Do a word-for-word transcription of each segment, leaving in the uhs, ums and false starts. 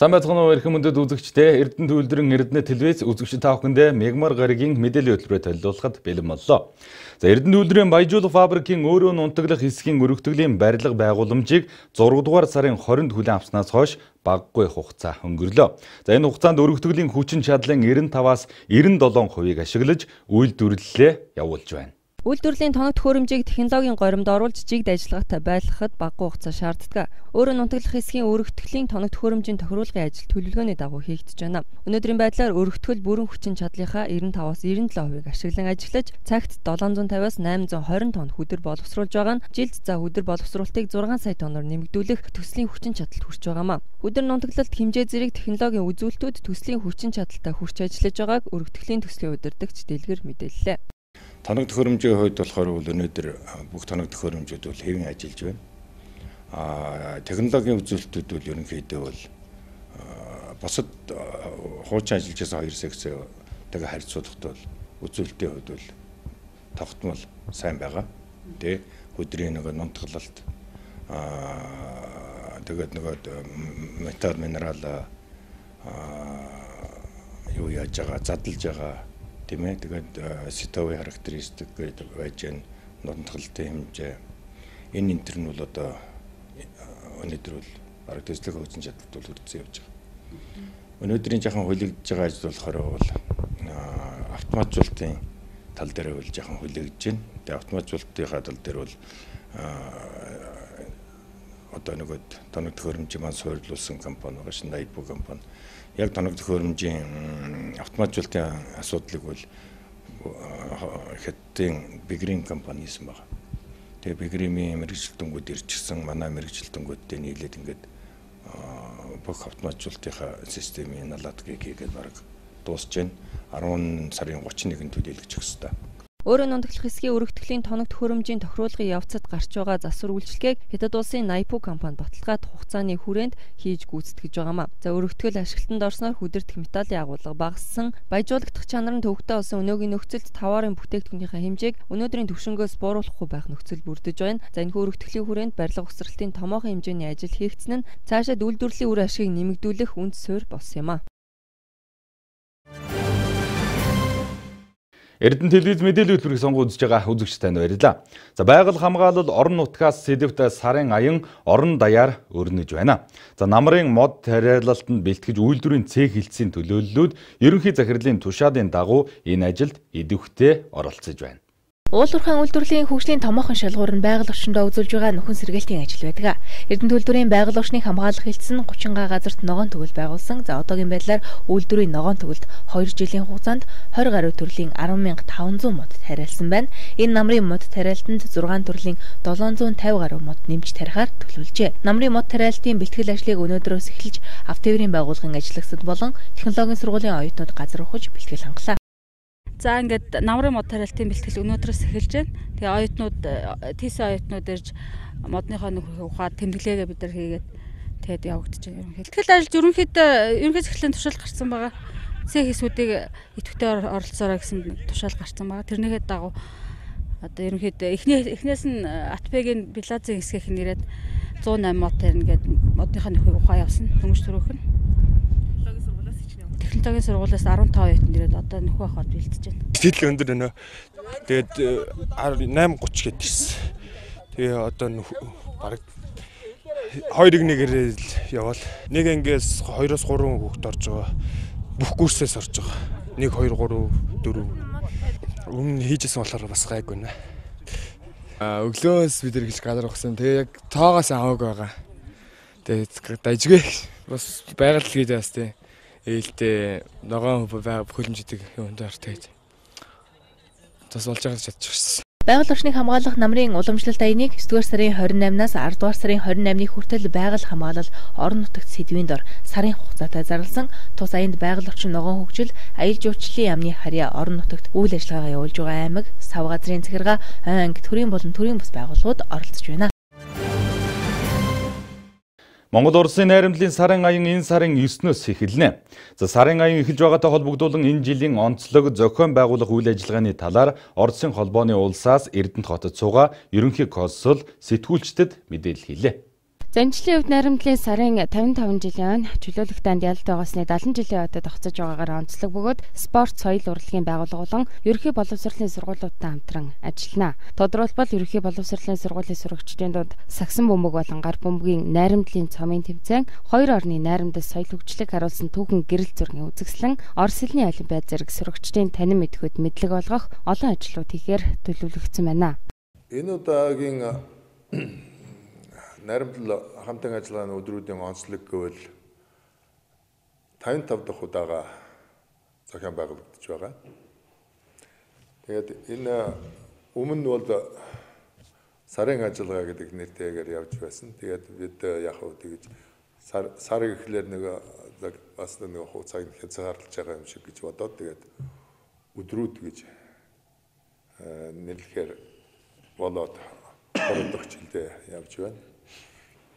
Сайн байцгаана уу эрхэм мөндөд үзэгчдээ. Эрдэнэ төвлөрөн Эрдэнэ телевиз үзэгчид та бүхэндээ мегмар гарагийн мэдээллийн хөтөлбөрөөр төлөвлөхөд бэлэн боллоо. За Эрдэнэ төвлөрийн Баяжуулах фабрикийн өөрөө нунтаглах хэсгийн өргөтгөлийн барилга байгууламжийг зураг дугаар сарын хорионд хүлээн авснаас хойш багагүй хугацаа өнгөрлөө. За энэ хугацаанд өргөтгөлийн хүчин чадлын девяносто таваас девяносто долоо хувийг ашиглаж үйлдвэрлэлээ явуулж байна. Үйлдвэрлэлийн тоног төхөөрөмжийг технологийн горимд оруулж жигд ажиллагаатай байлгахад багагүй хугацаа шаарддаг. Өөрөө нунтаглах хэсгийн өргөтгөлийн тоног төхөөрөмжийн тохируулгын ажил төлөвлөгөөний дагуу хийгдэж байна. Өнөөдрийн байдлаар өргөтгөл бүрэн хүчин чадлынхаа девяносто таваас девяносто долоо хувийг ашиглан ажиллаж, цагт долоон зуун тавиас найман зуун хорин тонн хөдөр боловсруулж байгаа нь жилд за хөдөр боловсруулалтыг зургаан сая тонноор нэмэгдүүлэх төслийн хүчин чадалд хүрч байгаамаа. Хөдөр нунтаглалт хэмжээ зэрэг технологийн үзүүлэлтүүд төслийн хүчин чадалтай хүрч ажиллаж байгааг өргөтгөлийн төслийн удирдагч Дэлгэр мэдээллээ. Тоног төхөөрөмжийн хувьд болохоор өнөөдөр бүх тоног төхөөрөмжүүд бол хэвэн ажиллаж байна. Аа технологийн үзүүлэлтүүд бол ерөнхийдөө бол босод хуучин ажиллаж байгаа хоёр секцтэйгээ харьцуулахад бол үзүүлэлтийн хувьд бол тогтмол сайн байгаа. Тэ хөдрийн нэг нунтаглалт аа тэгээд нэг металл минерал аа юу яаж байгаа задлж байгаа. Тэгээд сэтовый характеристик гэдэг байж гэн нунтаглалтын хэмжээ энэ энтер нь бол одоо өнөөдөр бол бараг төслөх хүчин чадалд бол хүрсэн явж байгаа. Өнөөдрийн жахан хүлэгдэж байгаа ажил болохоор бол автоматжуулалтын тал дээр бол жахан хүлэгдэж байна. Тэгээд автоматжуулалтынхаа тал дээр бол одоо нэг тоног төхөөрөмжийн маань суурилуулсан компани байгаа шин Найпо компани. Яг тоног төхөөрөмжийн автоматжуулалтын асуудлыг бол хэдийн Бигрим компани хийсэн байна. Тэгээ Бигримийн мэрэгжилтэнгүүд ирчихсэн манай мэрэгжилтэнгүүдтэй нийлээд ингээд бүх автоматжуулалтынхаа системийн наладгийг хийгээд бараг дуусж байна. арван сарын гучин нэгнд төлөөлөгдөх ёстой. Өөрөө нунтаглах хэсгийн өргөтгөлийн тоног төхөөрөмжийн тохируулгын явцад гарч байгаа засвар үйлчлэгийг Хятад улсын Найпо компани баталгаад хугацааны хүрээнд хийж гүйцэтгэж байгаамаа. За өргөтгөл ашиглалтанд орсноор хүдэрдэх металлын агуулга багассан, баяжуулагдах чанар нь төвөгтэй болсон өнөөгийн нөхцөлд таварын бүтээгдэхүүнийхээ хэмжээг өнөөдрийн түвшингөөс бууруулахгүй байх нөхцөл бүрдэж байна. За энэхүү өргөтгөлийн хүрээнд барилга угсралтын томоохон хэмжээний ажил хийгдсэн нь цаашаа үйлдвэрлэлийн үр ашгийг нэмэгдүүлэх үнд суурь болсон юм а. Эрдэнэ телевиз мэдээллийн хөтөлбөрийг сонгон үзэж байгаа үзэгчид танд баярлалаа. За байгаль хамгаалал орон нутгаас сэдэвт сарын аян орон даяар өрнөж байна. За намрын мод тариалалтанд бэлтгэж үйлдвэрийн цэг хилцээний төлөөллүүд ерөнхий захирлын тушаалын дагуу энэ ажилд идэвхтэй оролцож байна. Уулуурхайн үйлдвэрлэлийн хөгжлийн томоохон шалгуур нь байгаль орчиндөө үзүүлж байгаа нөхөн сэргээлтийн ажил байдаг. Эрдэнэ төлөвлөрийн байгаль орчныг хамгаалах хэлтсэн гучин га газарт ногоон төгөл байгуулсан. За одоогийн байдлаар үйлдвэрийн ногоон төгөлд хоёр жилийн хугацаанд тwenty гаруй төрлийн арван мянга таван зуун мод тариалсан байна. Энэ намрын мод тариалтанд зургаан төрлийн долоон зуун тавь гаруй мод нэмж тарихаар төлөвлөжээ. Намрын мод тариалтын бэлтгэл ажлыг өнөөдрөөс эхэлж автоврийн байгууллагын ажиллагчид болон технологийн сургуулийн оюутнууд газар ухаж бэлтгэл хангалаа. За ингээд намрын мод тариалтын бэлтгэл өнөөдрөөс эхэлж байна. Тэгээ оюутнууд ТИС оюутнууд ирж модныхоо нөхөр ухаад тэмдэглээгээ бид нар хийгээд тэгээд явагдаж байна ерөнхийдөө. Бэлтгэл ажил ерөнхийдөө ерөнхий захирлын тушаал гарсан байгаа. Цэг хэсүүдийг идэвхтэй оролцоорой гэсэн тушаал гарсан байгаа. Тэрнийхээ дагуу одоо ерөнхийдөө эхний эхнээс нь Атбегийн Билазын хэсгийнх нь ирээд зуун найман мод тарина гэдэг модныхоо нөхөр ухаа явсан. Дөнгөж төрөөх нь. Технологийн сургуулиас арван таван оюутан ирээд одоо нөхөө ахад бэлтэж байна. Сэтгэл өндөр өнөө. Тэгээд найман гуч гээд ирсэн. Тэгээ одоо бараг хоёр нэгээр явал. Нэг ангиас хоёроос гурван хүүхэд орж байгаа. Бүх курсээс орж байгаа. нэг хоёр гурав дөрөв. Өмнө хийжсэн болохоор бас гайгүй нэ. А өглөөс бид нар эхэлж газар ухсан. Тэгээ яг тоогоос аваагүй байгаа. Тэгээд дажгүй бас байгаль гээд бас тий. Ээлтэй ногоон хөлмжидэг юмд артайд. Тас болж байгаа чадчихсан. Байгаль орчныг хамгаалах намрын уламжлалт аяныг девдүгээр сарын хорин наймнаас ардугаар сарын хорин наймны хүртэл байгаль хамгаалал орон нутагт сэдвийн дор сарын хугацаатай зарласан. Тус аянд байгаль орчин ногоон хөгжил, аялал жуулчлалын яамны харьяа орон нутагт үйл ажиллагаа явуулж байгаа аймаг, сав газрын захиргаа, анги, төрийн болон төрийн бус байгууллагууд оролцож байна. Монгол Улсын найрамдлын сарын аян энэ сарын девятнөөс эхэлнэ. За сарын аян эхэлж байгаатай холбогдуулан энэ жилийн онцлог зохион байгуулах үйл ажиллагааны талаар Оросын холбооны улсаас Эрдэнэт хотод суугаа ерөнхий консул сэтгүүлчдэд мэдээлэл хийлээ. Занжлын хувьд найрамдлын сарын тавин таван жилийн чөлөөлөх танд ялалт байгаасны даалан жилийн хойдод тогтсож байгаагаар онцлог бөгөөд спорт соёл урлагийн байгууллага болон ерөнхий боловсролын сургуулиудтай хамтран ажиллана. Тодорхойлбол ерөнхий боловсролын сургуулийн сурагчдын дунд сагсан бөмбөг болон гар бөмбөгийн найрамдлын цомын тэмцээн, хоёр орны найрамдал соёл хөгжлийг харуулсан түүхэн гэрэл зургийн үзэсгэлэн, Орос хэлний олимпиад зэрэг сурагчдын танин мэдхэд мэдлэг олгох олон ажлууд хийхээр төлөвлөгдсөн байна. Энэ удаагийн найрамдал хамтан ажиллагааны өдрүүдийн онцлог гэвэл тавин тав дахь удаага зохион байгуулагдаж байгаа. Тэгээд энэ өмнө бол сарын ажиллагаа гэдэг нэртэйгээр явж байсан. Тэгээд бид яг хөө тэгж сар сар гэхлээр нэг бас нэг хугацааг хязгаарлаж байгаа юм шиг гэж бодоод тэгээд өдрүүд гэж нэрлэхээр болоод гурав дахь жилдээ явж байна.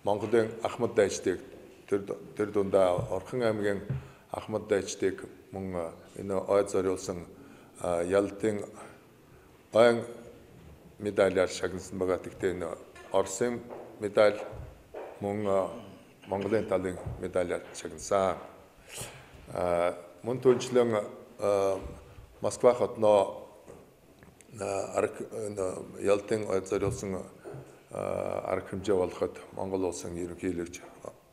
Монголын Ахмад дайчдыг тэр тэр дундаа Орхон аймгийн Ахмад дайчдыг мөн энэ ой зориулсан ялалтын ойн медалиар шагнасан байгаа. Тэгтээ энэ Оросын медаль мөн Монголын талын медалиар шагнасан. Мөн түнчлэн Москва хотноо ялалтын ой зориулсан арга хэмжээ болоход Монгол улсын ерөнхийлөгч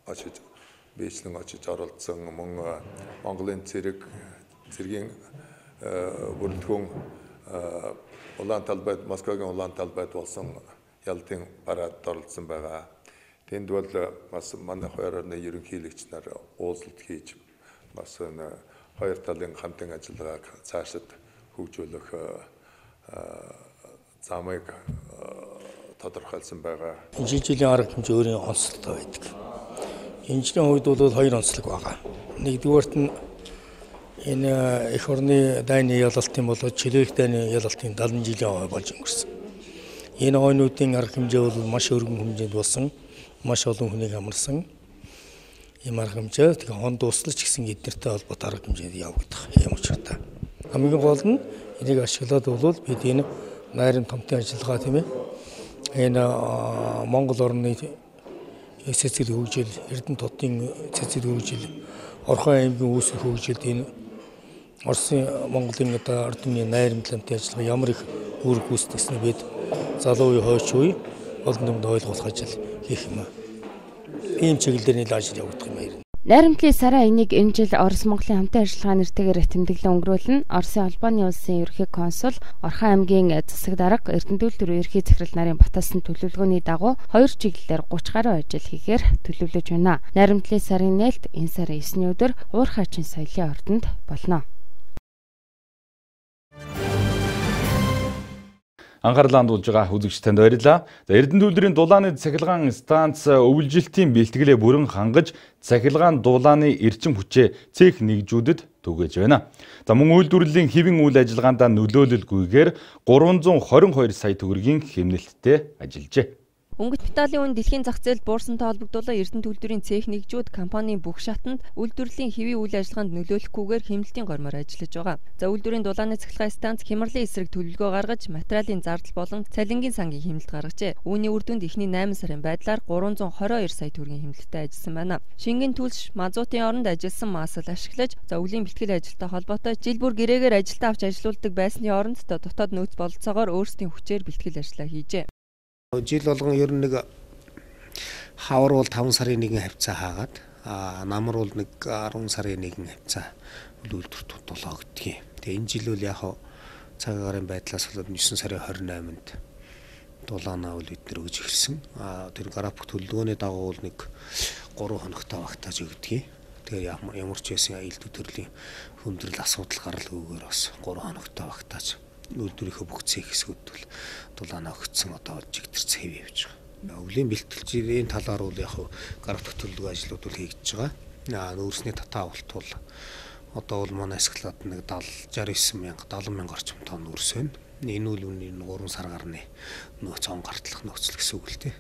очиж бийчлэн очиж оролцсон мөн Монголын цэрэг цэргийн бүрэлдэхүүн улаан талбайд Москвагийн улаан талбайд болсон ялалтын парад оролцсон байгаа. Тэнд бол бас манай хоёр орны ерөнхийлөгч нар уулзалт хийж бас хоёр талын хамтын ажиллагааг цаашид хөгжүүлэх замыг тодорхойлсон байгаа. Энэ жилийн арга хэмжээ өөрийн онцлогтой байдаг. Энэ жилийн хувьд бол хоёр онцлог байгаа. Нэгдүгээрт нь энэ эх орны дайны ялалтын болоод чөлөөлөх дайны ялалтын даалан жилийн хой болж өнгөрсөн. Энэ хойнуудын арга хэмжээ бол маш өргөн хэмжээнд болсон, маш олон хүнийг амарсан. Ийм арга хэмжээ тэгээ хон дуслаж гисэн эднэртэй холбоотой арга хэмжээнд явагдах юм учиртай. Хамгийн гол нь энийг ашиглаад бол бид энэ найрын томтын ажиллагаа тийм ээ энэ Монгол орны цэцэл хөгжил, Эрдэнэ хотын цэцэл хөгжил, Орхон аймгийн үүсэх хөгжилд энэ Оросын Монголын одоо ордны найрамдламтай ажиллагаа ямар их үр гүйцэтгснээ бид залуу үе хойч үе олон юмд ойлгуулах ажил хийх юм. Ийм чиглэлээр нийл ажил явагдах юм байна. Найрамдлын сараа энийг энэ жил Орос Монголын хамтын ажиллагаа нэртэйгээр тэмдэглэн өнгөрүүлнэ. Оросын холбооны улсын ерөнхий консул, Орхон аймгийн засаг дарга, Эрдэнэ төр ерөнхий захирал нарын баталсан төлөвлөгөөний дагуу хоёр чиглэлээр гуравч гаруй ажил хийхээр төлөвлөж байна. Найрамдлын сарын нээлт энэ сарын есний өдөр Уур хаачин соёлын ордонд болно. Анхаарлаа хандуулж байгаа үзэгчдэнд баярлалаа. За Эрдэнэ үйлдвэрийн дулааны цахилгаан станц өвлжилтийн бэлтгэлээ бүрэн хангаж цахилгаан дулааны эрчим хүчээ цех нэгжүүдэд түгээж байна. За мөн үйлдвэрлэлийн хэвийн үйл ажиллагаанд нөлөөлөлгүйгээр гурван зуун хорин хоёр сая төгрөгийн хэмнэлттэй ажиллажээ. Өнгөт металлын үн дэлхийн зах зээлд буурсантай холбогдуулан Эрдэнэ үйлдвэрийн цех нэгжүүд компанийн бүх шатанд үйлдвэрлэлийн хэвийн үйл ажиллагаанд нөлөөлөхгүйгээр хэмнэлтийн гормоор ажиллаж байгаа. За үйлдвэрийн дулааны цахилгаан станц Хямралын эсрэг төлөвлөгөө гаргаж материалын зардал болон цалингийн сангийн хэмнэлт гаргажээ. Үүний үр дүнд эхний найман сарын байдлаар гурван зуун хорин хоёр сая төгрөгийн хэмнэлттэй ажилласан байна. Шингэн түлш мазутын оронд ажилласан масал ашиглаж за өвлийн бэлтгэл ажилтай холбоотой жил бүр гэрээгээр ажилтаа авч ажилуулдаг байсны оронд дотоод нөөц бололцоогоор өөрсдийн хүчээр бэлтгэл ажиллаа хийжээ. Жил болгон ер нь нэг хавар бол таван сарын нэгэн хавцаа хаагаад намар бол нэг арван сарын нэгэн хавцаа үйлдвэрт тулгагдгийг. Тэгээ энэ жил бол яг цаг агаарын байдлаас болоод девять сарын двадцать восьмонд дулаанаа бол бид нэр өгж ирсэн. Тэр график төлөвлөгөөний дагуу бол нэг гурван хоногтой багтааж өгдгийг. Тэгэхээр ямар ч байсан аялал төрлийн хүндрэл асуудал гаралгүйгээр бас гурван хоногтой багтааж үйлдвэрийнхөө бүх цех хэсгүүд бол дулаанаа өгсөн одоо жигтэрч хэв явж байгаа. Өвлийн бэлтгэлжийн талаар бол яг график төлөвлөгөө ажлууд бол хийгдэж байгаа. Нөөцний татаа авалт бол одоо бол манай эсгэлад нэг шестьдесят девять мянга севент мянга орчим тонн нөөц байна. Энэ үл үнийн гурван сар гарны нөөц он гартлах нөөцл гэсэн үг л дээ.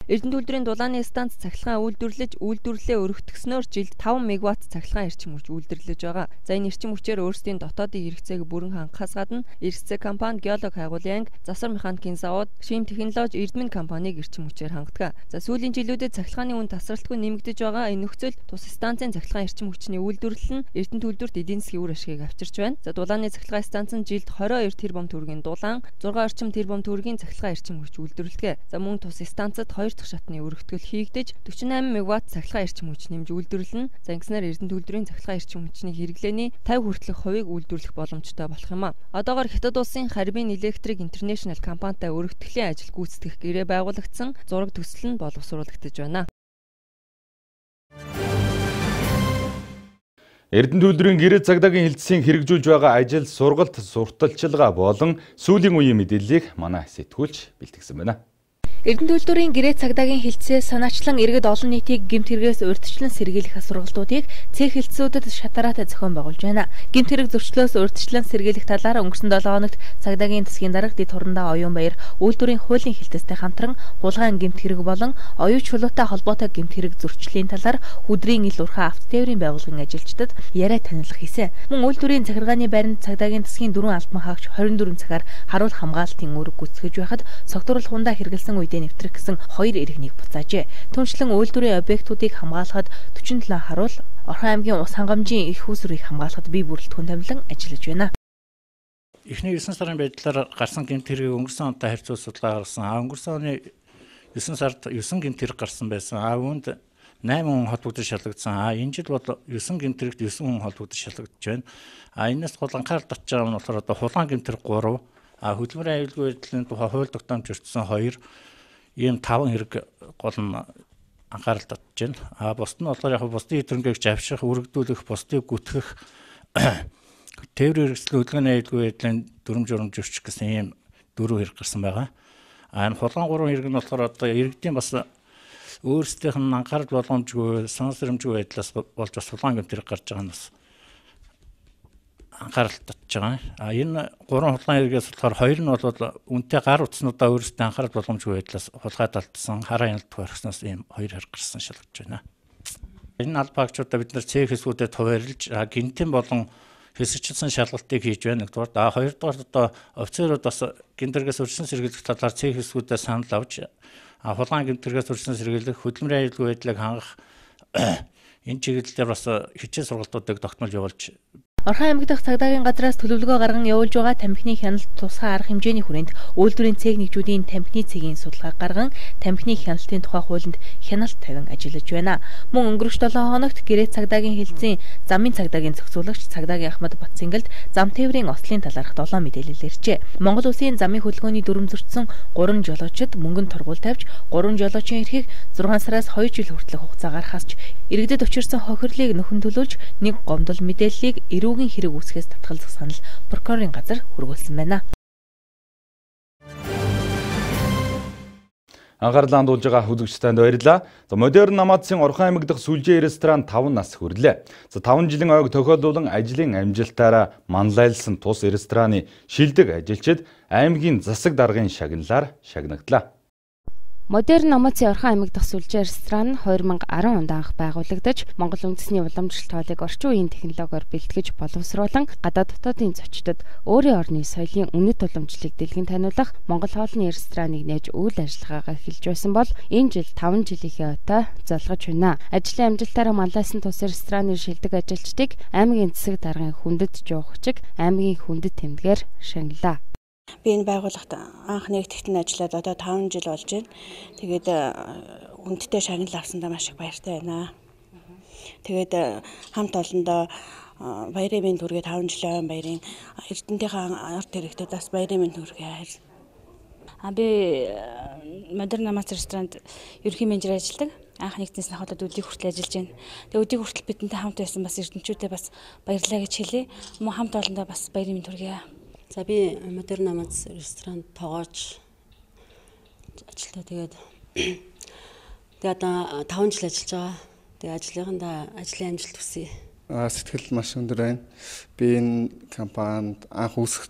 Эрдэнэ үйлдвэрийн дулааны станц цахилгаан үйлдвэрлэж, үйлдвэрлэлээ өргөтгснөөр жилд таван мегаватт цахилгаан эрчим хүч үйлдвэрлэж байгаа. За энэ эрчим хүчээр өөрсдийн дотоодын хэрэгцээг бүрэн хангахаас гадна эрсцээ компани, геолог хайгуулын анги, засвар механикийн завод, шим технологи, Эрдмэн компаниг эрчим хүчээр хангадаг. За сүүлийн жилүүдэд цахилгааны үн тасралтгүй нэмэгдэж байгаа. Энэ нөхцөл тус станцын цахилгаан эрчим хүчний үйлдвэрлэл нь Эрдэнэ үйлдвэрт эдийн засгийн үр ашгийг авчирч байна. За дулааны цахилгаан станц нь жилд двадцать two тэрбум төгрөгийн дулаан, зургаан орчим тэрбум төгрөгийн цахилгаан эрчим хүч үйлдвэрлэдэг. За мөн тус станцад хоёр дахь шатны өргөтгөл хийгдэж forty-eight мегаватт цахилгаан эрчим хүч нэмж үйлдвэрлэнэ. За ингэснээр Эрдэнэ үйлдвэрийн цахилгаан эрчим хүчний хэрэглээний fifty хүртэлх хувийг үйлдвэрлэх боломжтой болох юм а. Одоогоор Хятад улсын Харбин Electric International компанитай өргөтгөлийн ажил гүйцэтгэх гэрээ байгуулагдсан, зураг төсөл нь боловсруулагдаж байна. Эрдэнэ үйлдвэрийн гэрээ цагдаагийн хэлтсийн хэрэгжүүлж байгаа ажил, сургалт, сурталчилгаа болон сүүлийн үеийн мэдээллийг манай сэтгүүлч бэлтгэсэн байна. Эрдэнэ үйлдвэрийн гэрээ цагдаагийн хэлтсээс санаачлан иргэд олон нийтийг гэмт хэрэгээс урьдчилан сэргийлэх сургалтуудыг цэг хэлтсүүдэд шатараатай зохион байгуулж байна. Гэмт хэрэг зөрчлөөс урьдчилан сэргийлэх талаар өнгөрсөн seven хоногт цагдаагийн засгийн дарга Дэд Хурандаа Оюунбаяр үйлдвэрийн хуулийн хэлтстэй хамтран хулгайн гэмт хэрэг болон оюун чулуутай холбоотой гэмт хэрэг зөрчлийн талаар хүдрийн ил урхаа авто тээврийн байгууллагын ажилчдад яриа танилцах хийсэн. Мөн үйлдвэрийн захиргааны байранд цагдаагийн засгийн дөрвөн албан хаагч twenty-four цагаар харуул хамгаалтын үүрэг гүйцэтгэж байхад согтурал хундаа хэрэгэлсэн үедээ нэвтрэх гэсэн хоёр иргэнийг буцаажээ. Түүнчлэн үйлдвэрийн объектуудыг хамгаалахад forty-seven харуул, Орхон аймгийн ус хангамжийн их усрыг хамгаалахад бие бүрэлдэхүүн тавилан ажиллаж байна. Эхний nine сарын байдлаар гарсан гэмт хэргийг өнгөрсөн онтой харьцуулж судалгаа гаргасан. А өнгөрсөн оны nine сард nine гэмт хэрэг гарсан байсан. А үүнд eight хүн холбогдож шалгагдсан. А энэ жил бол nine гэмт хэрэгт nine хүн холбогдож шалгагдж байна. А энэс гол анхаарал татж байгаа нь болохоор одоо хулгайн гэмт хэрэг three, а хөдөлмөрийн аюулгүй байдлын тухай хууль тогтоомж өртсөн two, ийм five хэрэг гол нь анхаарал татж байна. А бусд нь болохоор яг бусдын хэтэрхийгч авших, үргэлжлүүлэх, бусдыг гүтгэх, тээврийн хэрэгсэл хөдөлгөөний аюулгүй байдлын дүрм журам зөрчих гэсэн ийм дөрвөн хэрэг гарсан байгаа. А энэ хулгайн гурван хэрэг нь болохоор одоо иргэдийн бас өөрсдийнх нь анхаарал боломжгүй, сонс сэрэмжгүй байдлаас болж бас хулгайн гэмт хэрэг гарч байгаа нь бас анхаарал татж байгаа. А энэ гурван хулгайн хэрэгээс болохоор хоёр нь бол үнэтэй гар утаснуудаа өөрсдөө анхаарал боломжгүй байдлаас хулгайд алдсан, хараа яналтгүй орхисноос ийм хоёр хэрэг гарсан шалгаж байна. Энэ албаагчдаа бид нар цэг хэсгүүдэд хуваарлж гинтэн болон хэсэгчилсэн шалгалтыг хийж байна. Нэгдүгээр, а хоёрдугаар одоо офицерууд бас гинтэргээс өршин сэргийлэх талаар цэг хэсгүүдэд санал авч а хулгайн гинтэргээс өршин сэргийлэх, хөдөлмөрийн аюулгүй байдлыг хангах энэ чиглэлээр бас хичээл сургалтуудыг тогтмол явуулж Орхон аймаг дахь цагдаагийн газраас төлөвлөгөө гарган явуулж байгаа тамхины хяналт тусгай арга хэмжээний хүрээнд үйлдвэрийн цэг нэгжүүдийн тамхины цэгийн судалгаа гарган тамхины хяналтын тухай хуулинд хяналт тавин ажиллаж байна. Мөн өнгөрөх seven хоногт гэрээ цагдаагийн хэлтсийн замын цагдаагийн зохицуулагч цагдаагийн Ахмад Батцэнгэлд зам тээврийн ослын талаарх seven мэдээлэл иржээ. Монгол Улсын замын хөдөлгөөний дүрм зөрчсөн three жолоочид мөнгөнд тургуул тавьж three жолоочийн эрхийг six сараас two жил хүртэлх хугацаагаар хасч иргэдэд учирсан хохирлыг нөхөн төлүүлж нэг гомдол мэдээллийг эрүүгийн хэрэг үүсгэхээс татгалзах санал прокурорын газар хүргүүлсэн байна. Анхаарлаа хандуулж байгаа үзэгчдэнд баярлалаа. За модерн намаадсын Орхон аймаг дахь сүлжээ ресторан five нас хүрлээ. За five жилийн ойг тохиолдуулан ажлын амжилтаараа манлайлсан тус рестораны шилдэг ажилчид аймгийн засаг даргын шагналаар шагнагдлаа. Модерн намаадсын Орхон аймаг дахь сүлжээ ресторан twenty ten онд анх байгуулагдаж, Монгол үндэсний уламжлалт хоолыг орчин үеийн технологиор бэлтгэж боловсруулан гадаад дотоодын зочдод өөрийн орны соёлын үнэт уламжлалыг дэлгэн таниулах Монгол хоолны рестораныг нээж үйл ажиллагаагаа эхэлж байсан бол энэ жил five жилийнхээ ойтой залгаж байна. Ажлын амжилтаараа манлайсан тус рестораны шилдэг ажилчдыг аймгийн засаг даргын хүндэт жуугчиг аймгийн хүндэт тэмдгээр шагналаа. Би энэ байгууллагт анх нэгтгэгдэн ажиллаад одоо five жил болж байна. Тэгээд хүндтэй шагнал авсандаа маш их баяртай байна. Тэгээд хамт олондоо баярын мэнд хүргээд five жилийн баярын эрдэнтийнхээ арт хэрэгтэд бас баярын мэнд хүргэе. А би модерн намац ресторанд ерөнхий менежер ажилладаг. Анх нэгдсэнээс хаваад өдийг хүртэл ажиллаж байна. Тэгээд өдийг хүртэл бидэнтэй хамт байсан бас эрдэнчүүдээ бас баярлалаа гэж хэлье. Мөн хамт олондоо бас баярын мэнд хүргэе. За би модерн намац ресторанд тоогооч ажилтаа тэгээд тэгээд одоо five жил ажиллаж байгаа. Тэгээд ажлынхандаа ажлын амжилт хүсье. Аа сэтгэл маш өндөр байна. Би энэ компанид анх үүсэх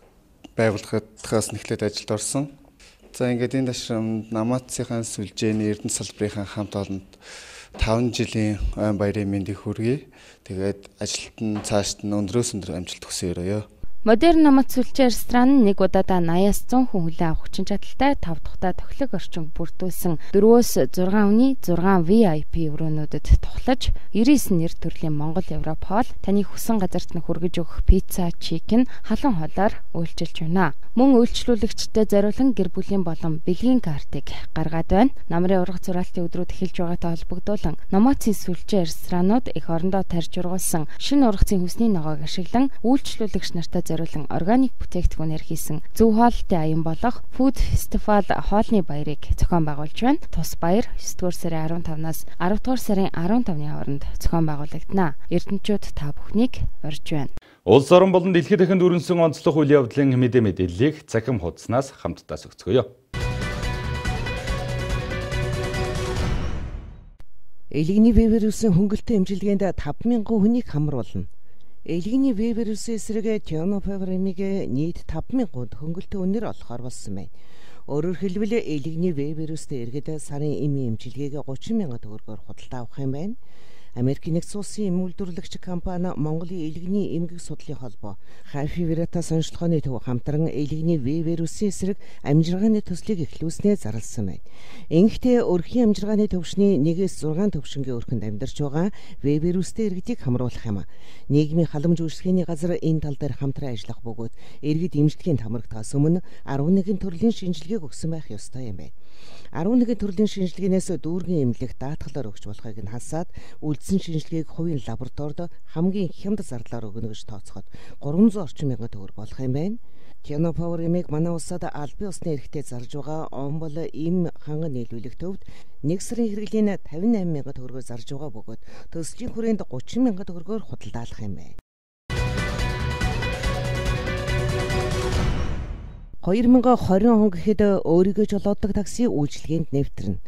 байгууллагаас нэхлээд ажилд орсон. За ингээд энэ ташрамд Намаацын сүлжээний Эрдэнэ салбарын хамт олонд таван жилийн ой баярын мэндийг хүргэе. Тэгээд ажилт нь цаашд нь өндрөөс өндөр амжилт хүсье өрөөё. Модерн Намац сүлжээ ресторан нэг удаадаа восемьдесят зуун хүн хүлээн авах хүчин чадалтай тав дахьтай тохилог орчин бүрдүүлсэн дөрвөөс зургаан үний зургаан ви ай пи өрөөнүүдэд тухлаж девяносто нэр төрлийн Монгол Европ хоол таны хүссэн газарт нь хүргэж өгөх пицца, чикен, халуун хоолоор үйлчилж байна. Мөн үйлчлүүлэгчдэд зориулан гэр бүлийн болон бэлгийн картыг гаргаад байна. Намрын ургац зураалтын өдрүүд эхэлж байгаатай холбогдуулан Намацын сүлжээ ресторанууд их орондоо тарж ургуулсан шинэ ургацын хүсний ногоог ашиглан үйлчлүүлэгч нартай зориулан органик бүтээгдэхүүнээр хийсэн зөв хоолтой аян болох Food Festival хоолны баярыг зохион байгуулж байна. Тус баяр есдүгээр сарын арван тавнаас аравдугаар сарын арван тавны хооронд зохион байгуулагдана. Эрдэнэчүүд та бүхнийг урьж байна. Улс орон болон дэлхийд дахинд өрнсөн онцлог үйл явдлын мэдээ мэдээллийг цахим хуудаснаас хамтдаа зөвцгөөё. Элигний вирусын хөнгөлөлтөд эмчилгээнд таван мянган хүнийг хамруулна. Элигний вирусын эсрэг Тинофавремиг нийт таван мянган хөнгөлөлтөд үнээр олохоор болсон байна. Өөрөөр хэлбэл элигний вирустэй иргэд сарын эмийн эмчилгээг гучин мянган төгрөгөөр худалдаа авах юм байна. Америкийн нэгдсэн улсын эм үйлдвэрлэгч компани Монголын элигний эмгэг судлалын холбоо Хафи Вирата сонирхолтой төв хамтран элигний вирусын эсрэг амжиргааны төслийг эхлүүлснээр зарласан байна. Ингэхдээ өрхийн амжиргааны төвшний нэгээс зургаан төвшингийн өрхөнд амьдарч байгаа вирустэй иргэдийг хамруулах юм. Нийгмийн халамж үйлчлэгээний газар энэ тал дээр хамтран ажиллах бөгөөд иргэд эмчилгээнд хамрагдахаас өмнө арван нэгэн төрлийн шинжилгээг өгсөн байх ёстой юм байна. арван нэгэн төрлийн шинжилгээнээс дүүргийн эмнэлэг даатгалаар өгч болохыг нь хасаад үлдсэн шинжилгээг хувийн лабораторид хамгийн хямд зарлаар өгнө гэж тооцоход гурван зуун орчим мянган төгрөг болох юм байна. Тинофавремиг манай улсад албан ёсны эрхтэй зарж байгаа он бол им ханган нийлүүлэх төвд нэг сарын хэрэглэлийн тавин найман мянган төгрөгөөр зарж байгаа бөгөөд төслийн хүрээнд гучин мянган төгрөгөөр худалдаалах юм байна. хоёр мянган двадцать он гэхэд өөрийгөө жолоодог такси үйлчилгээнд нэвтрэнэ.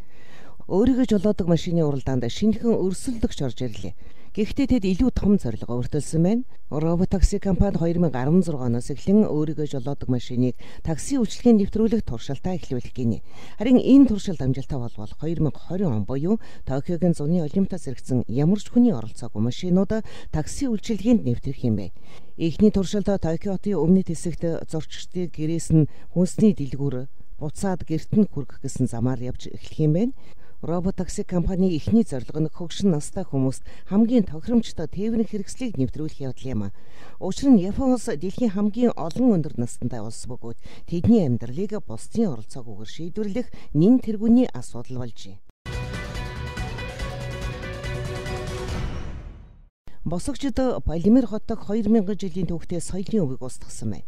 Өөрийгөө жолоодог машины уралдаанд шинэхэн өрсөлдөгч орж ирлээ. Гэхдээ тэд илүү том зорилго өртөлсөн байна. Робот такси компани хоёр мянган арван зургаан оноос эхлэн өөрийгөө жолоодог машиныг такси үйлчилгээнд нэвтрүүлэх туршилтаа эхлүүлэх гинэ. Харин энэ туршилт амжилттай болбол хоёр мянган двадцать он буюу Токиогийн зуны олимпиадаас зэрэгсэн ямар ч хүний оролцоогүй машинууд такси үйлчилгээнд нэвтрэх юм бэ. Эхний туршилт Токио хотын өмнөд хэсэгт зурчдын гэрээс нь хүнсний дэлгүүр буцаад гэрт нь хүргэх гэсэн замаар явж эхлэх юм байна. Робот такси компани эхний зорилго нь хөгшин настай хүмүүст хамгийн тохиромжтой тээврийн хэрэгслийг нэвтрүүлэх явдал юм. Учир нь Япон улс дэлхийн хамгийн олон өндөр настай улс бөгөөд тэдний амьдралыг бусдын оролцоогүйгээр шийдвэрлэх нэн тэргүүний асуудал болжээ. Босогчд Полимер хотод хоёр мянган жилийн түүхтэй соёлын өвийг устгасан байна.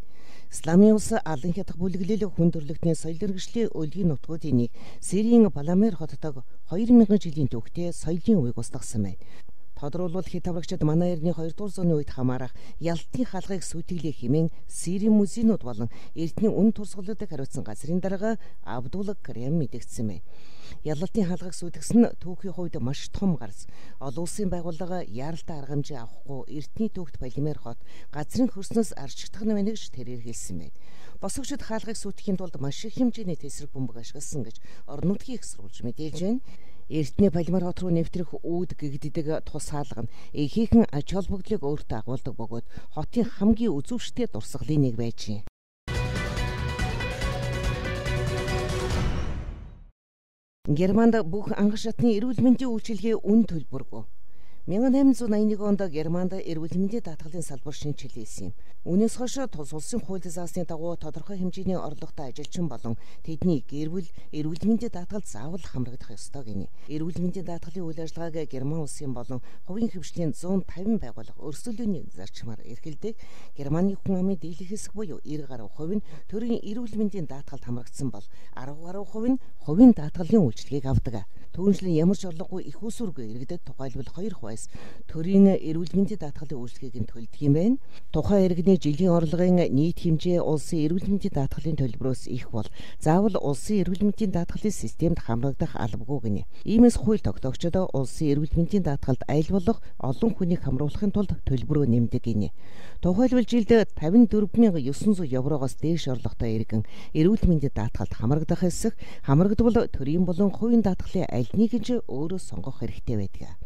Исламын улс алан хятад бүлэглэл хүн төрөлхтний соёл иргэшлийн өлгийн нутгуудын нэг Сирийн Полимер хотод хоёр мянган жилийн түүхтэй соёлын өвийг устгасан байна. Тодорхойлбол хэд аврагчид манай эртний хоёрдугаар зууны үед хамаарах Ялтын хаалгыг сүйтгэлээ хэмээн Сирийн музейнууд болон эртний үн турсгалуудыг хариуцсан газрын дарга Абдул Карим мэдгдсэн байна. Ялалтын хаалгыг сүйтгэсэн түүхийн хувьд маш том гарц. Олон улсын байгууллага яаралтай арга хэмжээ авахгүй эртний түүхт Полимер хот газрын хөрснөөс арчигдах нь байна гэж тэрээр хэлсэн байна. Босогчид хаалгыг сүйтгэхийн тулд маш их хэмжээний тесрэг бөмбөг ашигласан гэж орон нутгийн их сурвалж мэдээлж байна. Эртний Полимер хот руу нэвтрэх үүд гэгддэг тус хаалга нь ихээхэн ач холбогдлыг өөртөө агуулдаг бөгөөд хотын хамгийн үзүүштэй дурсгалын нэг байжээ. Германд бүх анх шатны эрүүл мэндийн үйлчилгээ үн төлбөргүй. мянга найман зуун аяны онд Германд эрүүл мэндийн даатгалын салбар шинжилсэн юм. Үүнээс хойш тус улсын хууль заасны дагуу тодорхой хэмжээний орлоготой ажилчин болон тэдний гэр бүл эрүүл мэндийн даатгалд заавал хамрагдах ёстой гинэ. Эрүүл мэндийн даатгалын үйл ажиллагааг Герман улсын болон хувийн хөвшлийн зуун тавин байгууллага өрсөлдөөний зарчмаар эрхэлдэг. Германы хүн амын дийлэх хэсэг буюу девяносто гаруй хувь нь төрийн эрүүл мэндийн даатгалд хамрагдсан бол арван гаруй хувь нь хувийн даатгалын үйлчилгээг авдаг. Түүнчлэн ямар ч орлогогүй их усүргүй иргэдэд тухайлбал хоёр хувь тухайс төрийн эрүүл мэндийн даатгалын үйлчлэгийг нь төлдөг юм байна. Тухайн иргэний жилийн орлогын нийт хэмжээ улсын эрүүл мэндийн даатгалын төлбөрөөс их бол заавал улсын эрүүл мэндийн даатгалын системд хамрагдах албагүй гинэ. Иймээс хууль тогтоогчдод улсын эрүүл мэндийн даатгалд аль болох олон хүнийг хамруулахын тулд төлбөрөө нэмдэг гинэ. Тухайлбал жилд тавин дөрвөн мянган ёсон зуун еврогоос дээш орлоготой иргэн эрүүл мэндийн даатгалд хамрагдах эсэх хамрагдвал төрийн болон хувийн даатгалын аль нэг нь ч өөрөө сонгох хэрэгтэй байдаг.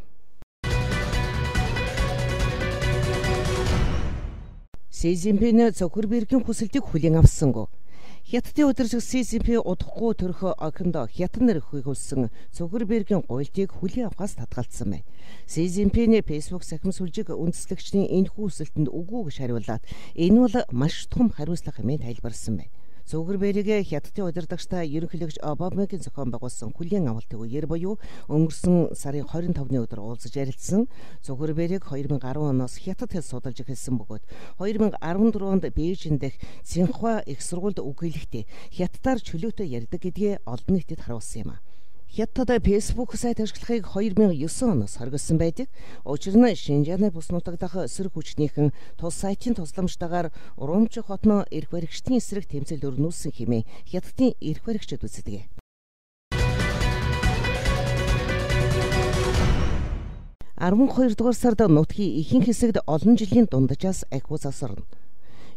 Си Цзиньпин Цукербергийн хүсэлтийг хүлээн авсангүй. Хятадын удирдагч Си Цзиньпин удахгүй төрөх охинд хятад нэр өгүүлсэн Цукербергийн гуйлтыг хүлээн авахаас татгалцсан байна. Си Цзиньпин Facebook сахим сүлжиг үндэслэгчдийн энэхүү хүсэлтэнд үгүй гэж хариулаад энэ бол маш том хариуцлага хэмээн тайлбарласан байна. Цукербергийн хятадын удирдагчтай ерөнхийлөгч Обамагийн зохион байгуулсан хүлээн авалтын үеэр буюу өнгөрсөн сарын двадцать пятны өдөр уулзаж ярилцсан. Цукерберг две тысячи десять оноос хятад хэл судалж эхэлсэн бөгөөд две тысячи десять онд Бээжин дэх Цинхуа их сургуульд үгээлэхдээ хятадаар чөлөөтэй ярьдаг гэдгээ олон нийтэд харуулсан юм а. Хятад Facebook сайт ашиглахыг две тысячи девять оноос хоригдсан байдаг. Учир нь Шинжааны бус нутаг дахь эсрэг хүчнийхэн тус сайтын тусламжтайгаар Урамчи хотно эрх баригчдын эсрэг тэмцэл өрнүүлсэн хэмээн Хятадын эрх баригчид үздэг. арван хоёр дугаар сард нутгийн ихэнх хэсэгт олон жилийн дундажаас ахиу засарна.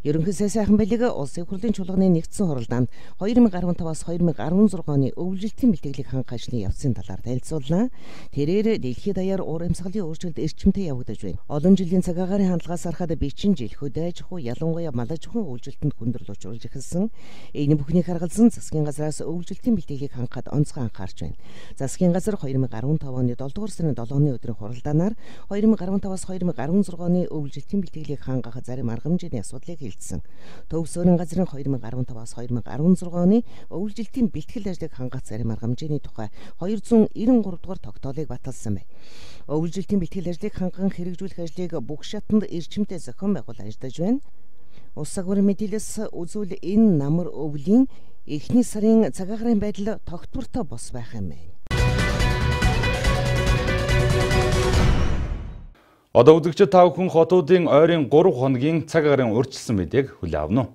Ерөнхий сайхан байлиг улсын хурлын чуулганы нэгдсэн хуралдаанд две тысячи15-аас две тысячи16 оны өвлжилтийн бэлтгэлийг хангах ажлын явцын талаар танилцууллаа. Тэрээр дэлхийд даяар уур амьсгалын өөрчлөлт эрчимтэй явагдаж байна. Олон жилийн цагаагаарын хандлагаас харахад бичин жил хөдөө аж ахуй ялангуяа малаж ахуйн өвлжилтөнд хүндрэл учруулж эхэлсэн. Энэ бүхнийг харгалзан засгийн газраас өвлжилтийн бэлтгэлийг хангахад онцгой анхаарч байна. Засгийн газар две тысячи15 оны долоо дугаар сарын долооны өдрийн хуралдаанаар две тысячи15-аас две тысячи16 оны өвлжилтийн бэлтгэлийг хангах зарим арга хэмжээний асуудлыг Төвсөрийн газрын две тысячи15-аас две тысячи16 оны өвлжилтийн бэлтгэл ажлыг хангах зарим арга хэмжээний тухай две зуун девяносто три дугаар тогтоолыг баталсан байна. Өвлжилтийн бэлтгэл ажлыг ханган хэрэгжүүлэх ажлыг бүх шатанд эрчимтэй зохион байгуул ажиллаж байна. Улс агуурын мэдээлэлс үзвэл энэ намар өвлийн эхний сарын цагаагаарын байдал тогтвортой бос байх юм байна. Одоо үзэгчид та бүхэн хотуудын ойрын гурав хоногийн цаг агарын урьдчилсан мэдээг хүлээн авна уу?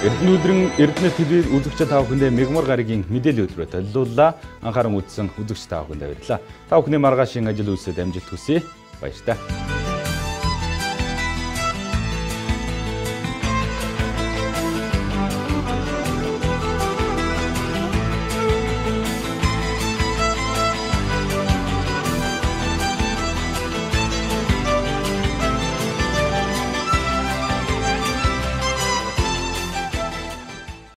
Эрдэнэ өдрийн Эрдэнэ телевиз үзэгч та бүхэндээ мегмар гарагийн мэдээлэл хөтөлбөрөөр төлөвлөлөө. Анхааран үзсэн үзэгч та бүхэнд баярлалаа. Та бүхний маргаашийн ажил үйлсэд амжилт хүсье. Баярлалаа.